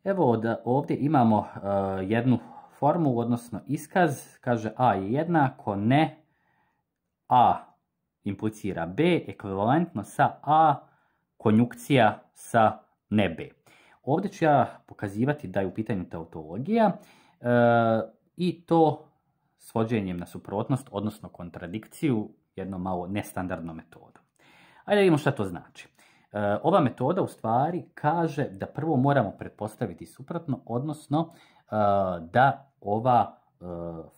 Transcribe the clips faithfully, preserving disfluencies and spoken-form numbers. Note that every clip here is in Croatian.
Evo da ovdje imamo uh, jednu formulu, odnosno iskaz, kaže A je jednako ne A implicira B, ekvivalentno sa A konjukcija sa ne B. Ovdje ću ja pokazivati da je u pitanju tautologija uh, i to svođenjem na suprotnost, odnosno kontradikciju, jednom malo nestandardnom metodom. Ajde da vidimo šta to znači. E, ova metoda u stvari kaže da prvo moramo pretpostaviti suprotno, odnosno e, da ova e,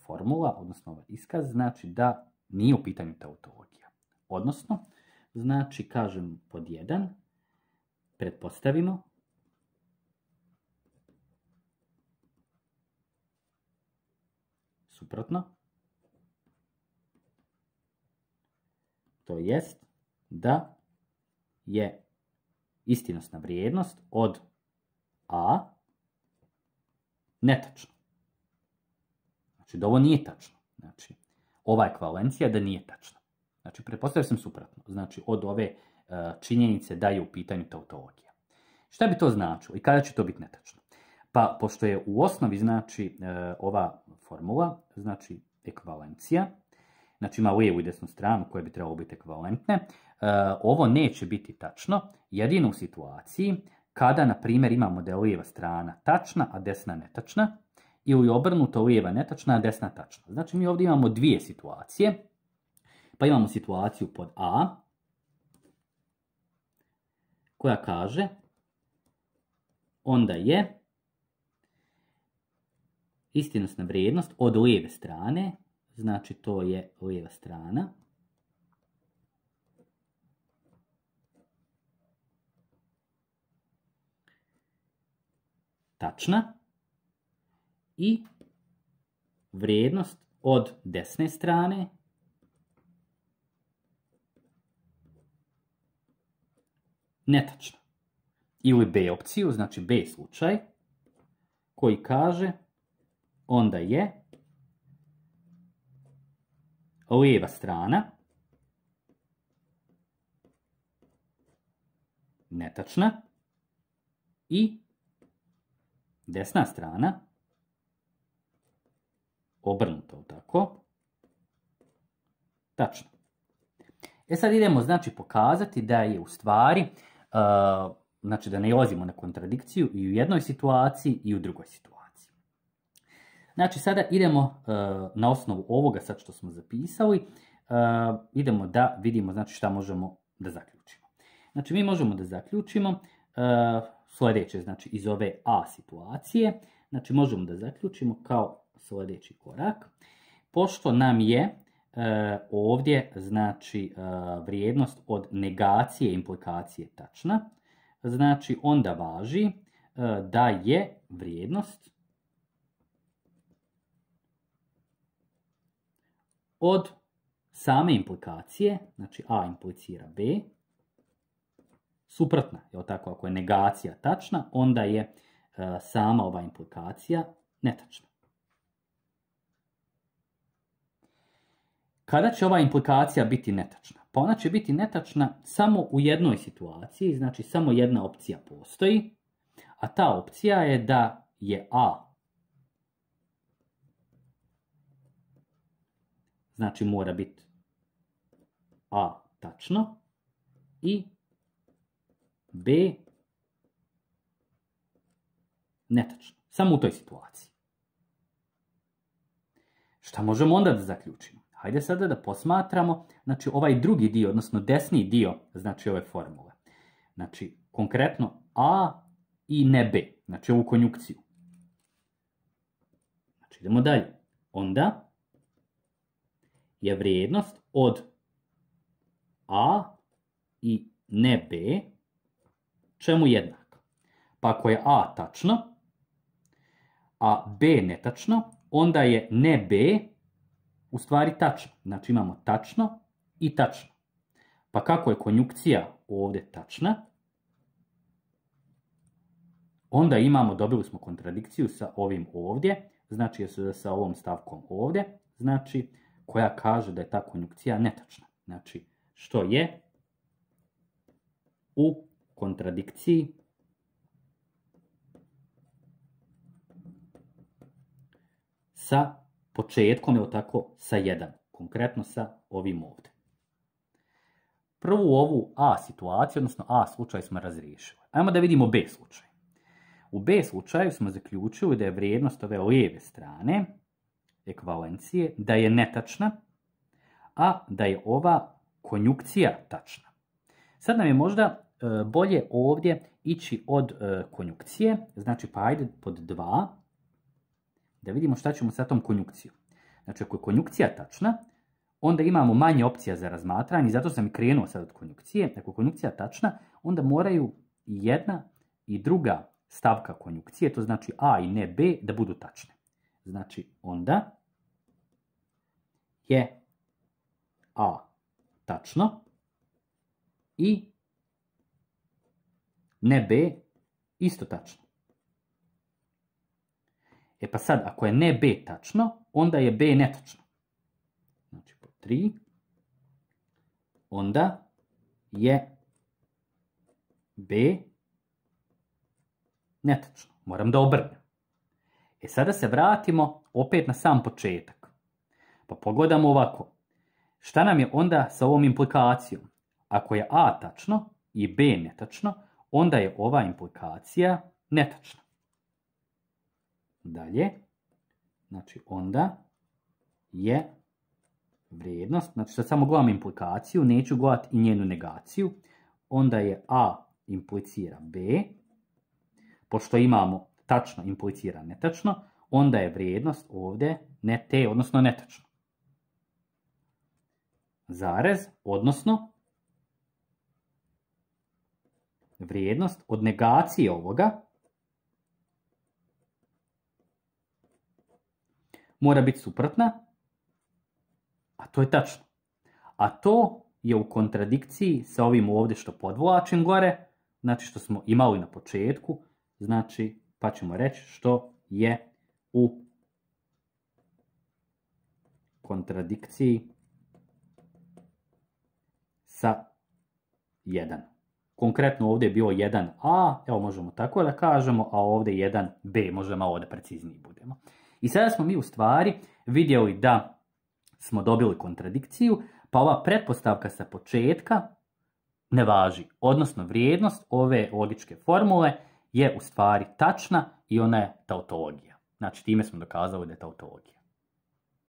formula, odnosno ovaj iskaz, znači da nije u pitanju tautologija. Odnosno, znači, kažem pod jedan, pretpostavimo suprotno, to jest da je istinosna vrijednost od A netačna. Znači da ovo nije tačno. Znači ova ekvivalencija da nije tačna. Znači pretpostavio sam suprotno. Znači od ove uh, činjenice da je u pitanju tautologija. Šta bi to značilo i kada će to biti netačno? Pa pošto je u osnovi znači uh, ova formula, znači ekvivalencija, znači ima lijevu i desnu stranu koje bi trebalo biti ekvivalentne, uh, ovo neće biti tačno jedino u situaciji kada, na primjer, imamo da je lijeva strana tačna, a desna netačna, ili obrnuto lijeva netačna, a desna tačna. Znači mi ovdje imamo dvije situacije, pa imamo situaciju pod A, koja kaže onda je istinosna vrijednost od lijeve strane, znači to je lijeva strana, tačna i vrijednost od desne strane netačna. Ili B opciju, znači B slučaj, koji kaže onda je lijeva strana netačna i desna strana obrnuto, tako, tačno. E sad idemo, znači, pokazati da je u stvari, uh, znači da ne ilazimo na kontradikciju i u jednoj situaciji i u drugoj situaciji. Znači sada idemo uh, na osnovu ovoga sad što smo zapisali, uh, idemo da vidimo znači šta možemo da zaključimo. Znači mi možemo da zaključimo uh, sljedeće, znači iz ove A situacije, znači možemo da zaključimo kao sljedeći korak, pošto nam je uh, ovdje znači uh, vrijednost od negacije implikacije tačna, znači onda važi uh, da je vrijednost od same implikacije, znači A implicira B, suprotna, je tako, ako je negacija tačna, onda je uh, sama ova implikacija netačna. Kada će ova implikacija biti netačna? Pa ona će biti netačna samo u jednoj situaciji, znači samo jedna opcija postoji, a ta opcija je da je A, znači mora biti A tačno i B netačno. Samo u toj situaciji. Šta možemo onda da zaključimo? Hajde sada da posmatramo, znači, ovaj drugi dio, odnosno desni dio, znači, ove formule. Znači, konkretno A i ne B, znači, ovu konjukciju. Znači, idemo dalje. Onda je vrijednost od A i ne B čemu jednaka? Pa ako je A tačno, a B netačno, onda je ne B u stvari tačno. Znači imamo tačno i tačno. Pa kako je konjukcija ovdje tačna, onda imamo, dobili smo kontradikciju sa ovim ovdje, znači sa ovom stavkom ovdje, znači koja kaže da je ta konjukcija netačna. Znači što je u kontradikciji sa početkom, ili tako, sa jedan. Konkretno sa ovim ovdje. Prvu ovu A situaciju, odnosno A slučaj smo razriješili. Ajmo da vidimo B slučaj. U B slučaju smo zaključili da je vrijednost ove lijeve strane ekvivalencije da je netačna, a da je ova konjukcija tačna. Sad nam je možda e, bolje ovdje ići od e, konjukcije, znači pa ajde pod dva, da vidimo šta ćemo sa tom konjukcijom. Znači ako je konjukcija tačna, onda imamo manje opcija za razmatranje, zato sam i krenuo sad od konjukcije. Ako je konjukcija tačna, onda moraju jedna i druga stavka konjukcije, to znači A i ne B, da budu tačne. Znači onda je A tačno i ne B isto tačno. E pa sad, ako je ne B tačno, onda je B netačno. Znači po tri, onda je B netačno. Moram da obrnem. E sada se vratimo opet na sam početak. Pa pogledamo ovako. Šta nam je onda sa ovom implikacijom? Ako je A tačno i B netačno, onda je ova implikacija netačna. Dalje, znači onda je vrijednost, znači sad samo gledam implikaciju, neću gledati i njenu negaciju, onda je A implicira B, pošto imamo tačno implicira netačno, onda je vrijednost ovdje ne T, odnosno netačno. Zarez, odnosno vrijednost od negacije ovoga mora biti suprotna, a to je tačno. A to je u kontradikciji sa ovim ovdje što podvlačim gore, znači što smo imali na početku, znači pa ćemo reći što je u kontradikciji sa jedan. Konkretno ovdje je bilo jedan A, evo možemo tako da kažemo, a ovdje jedan B, možda malo da precizniji budemo. I sada smo mi u stvari vidjeli da smo dobili kontradikciju, pa ova pretpostavka sa početka ne važi. Odnosno vrijednost ove logičke formule je u stvari tačna i ona je tautologija. Znači time smo dokazali da je tautologija.